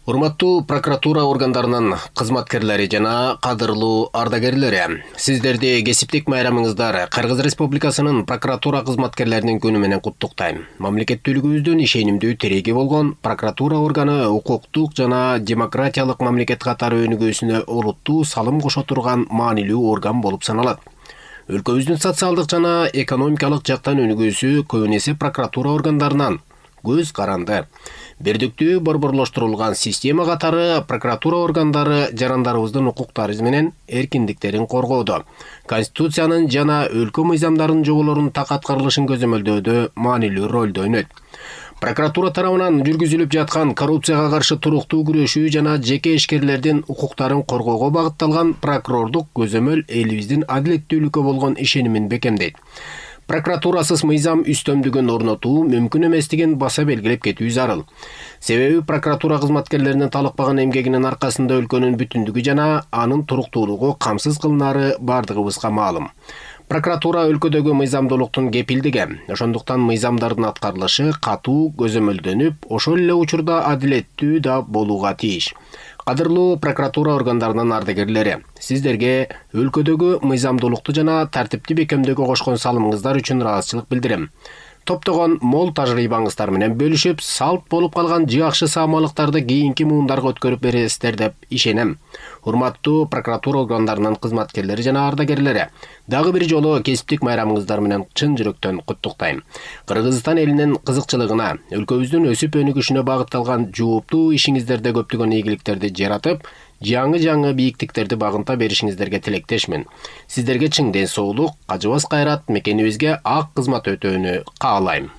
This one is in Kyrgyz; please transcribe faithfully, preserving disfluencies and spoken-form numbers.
Урматтуу прокуратура органдарынын кызматкерлери жана кадырлуу ардагерлери, сиздерди кесиптик майрамыңыздар Кыргыз Республикасынын прокуратура кызматкерлеринин күнү менен куттуктайм. Мамлекеттүүлүгүбүздүн ишенимдүү тиреги болгон прокуратура органы укуктук жана демократиялык мамлекет катары өнүгүүсүнө олуттуу салым кошо турган маанилүү орган болуп саналат. Өлкөбүздүн социалдык жана экономикалык жактан өнүгүүсү көбүн эсе прокуратура органдарынан көз каранды. Бирдиктүү борборлоштурулган система катары прокуратура органдары жарандарыбыздын укуктары менен эркиндиктерин коргоодо, Конституциянын жана өлкө мыйзамдарынын жоболорунун так аткарылышын көзөмөлдөөдө маанилүү ролду ойнойт. Прокуратура тарабынан жүргүзүлүп жаткан коррупцияга каршы туруктуу күрөшүү жана жеке ишкерлердин укуктарын коргоого багытталган прокурордук көзөмөл элибиздин адилеттүүлүккө болгон ишенимин бекемдейт. Прокуратурасыз мыйзам үстөмдүгүн орнотуу мүмкүн эместигин баса белгилеп кетүү зарыл. Себеби прокуратура кызматкерлеринин талыкпаган эмгегинин аркасында өлкөнүн бүтүндүгү жана анын туруктуулугу камсыз кылынаары бардыгыбызга маалым. Прокуратура өлкөдөгү мыйзамдуулуктун кепилдиги, ошондуктан мыйзамдардын аткарылышы катуу көзөмөлдөнүп, ошол эле учурда адилеттүү да болууга тийиш. Кадырлуу прокуратура органдарынын ардагерлери, сиздерге өлкөдөгү мыйзамдуулукту жана тартипти бекемдөөгө кошкон салымыңыздар үчүн ыраазычылык билдирем. Топтогон мол тажрыйбаңыздар менен бөлүшүп, салт болуп калган жакшы саамалыктарды кийинки муундарга өткөрүп бересиздер деп ишенем. Урматтуу прокуратура органдарынын кызматкерлери жана ардагерлери, дагы бир жолу кесиптик майрамыңыздар менен чын жүрөктөн куттуктайм. Кыргызстан элинин кызыкчылыгына, өлкөбүздүн өсүп өнүгүшүнө багытталган жууптуу ишиңиздерде көптөгөн ийгиликтерди жаратып, жаңы-жаңы бийиктиктерди багынта беришиңиздерге тилектешмин. Сиздерге чың ден соолук, кажыбас кайрат, мекенибизге ак кызмат өтөөнү каалайм.